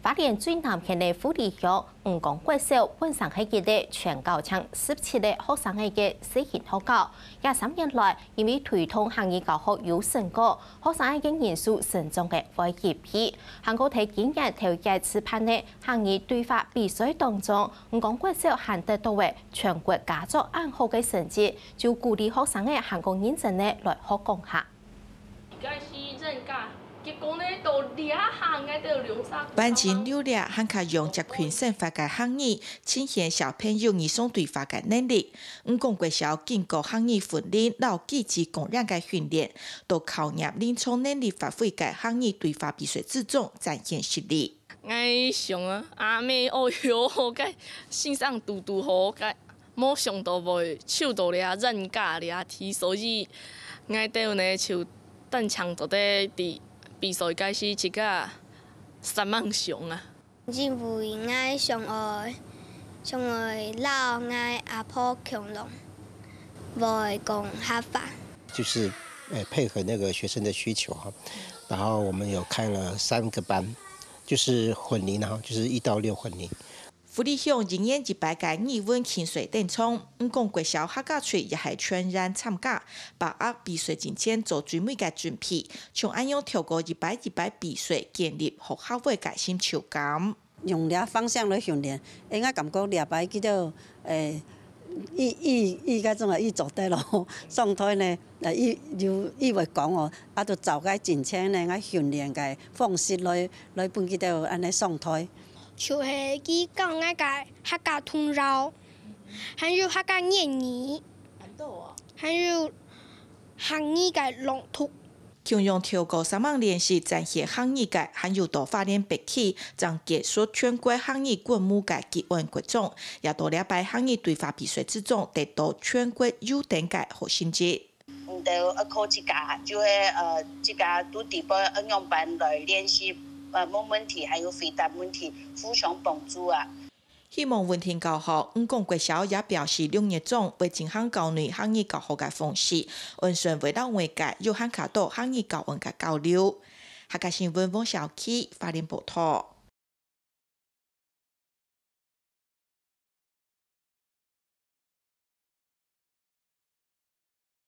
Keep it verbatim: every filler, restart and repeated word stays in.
花蓮最南片个富里鄉五宮國小本身係一個全校淨十七個學生个小型學校，這三年來，因為推動客語教學有成果，學生个人數成長个會一倍。還過在今年頭一次辦个客語對話比賽當中，五宮國小還得到个全國佳作恁好个成績，就鼓勵學生个還過認真个來學講客。 該是認假，結果呢，到這下𠊎兜兩儕。班級六粒還較用接近生活个客語，呈現小朋友日常對話个能力。五宮國小經過客語訓練摎句子講練个訓練，到考驗臨場能力發揮个客語對話比賽之中展現實力。 𠊎想啊，阿姆哦喲，該先生堵堵好，該無想到會抽到這認假這題，所以𠊎兜呢就單淨做得佇比賽開始自家煞猛想啊。因為𠊎想愛，想愛摎𠊎阿婆共樣，會講客話。就是，呃，配合那個學生的需求哈，然後我們有開了三個班， 就是混齡啊，就是一到六混齡。富里鄉一年一擺个語文競賽登場，五宮國小客家隊也係全員參加，把握比賽進前做最尾个準備，像恁樣透過一擺一擺比賽建立學校會个成就感。用這方向來訓練，應該感覺這擺佢兜，誒，佢，佢，佢該種啊，佢做得咯，上台呢，呃，佢有，佢會講哦，啊，就照該進前呢，𠊎訓練个方式來，來分佢兜恁呢上台。 就係佢教𠊎个客家童謠，還有客家諺語，還有客語个朗讀。共樣透過煞猛練習展現客語个，還有到花蓮北區正結束全國客語觀摩个吉安國中，也到這擺客語對話比賽之中得到全國優等个好成績。 你兜愛靠自家，就係，呃，自家都知愛仰般來練習，呃，問問題，還有回答問題，互相幫助啊。希望穩定教學，五宮國小也表示六月中會進行校內客語教學个方式，按算會摎外界有還較多客語教案个交流。客家新聞黃小琪，花蓮報導。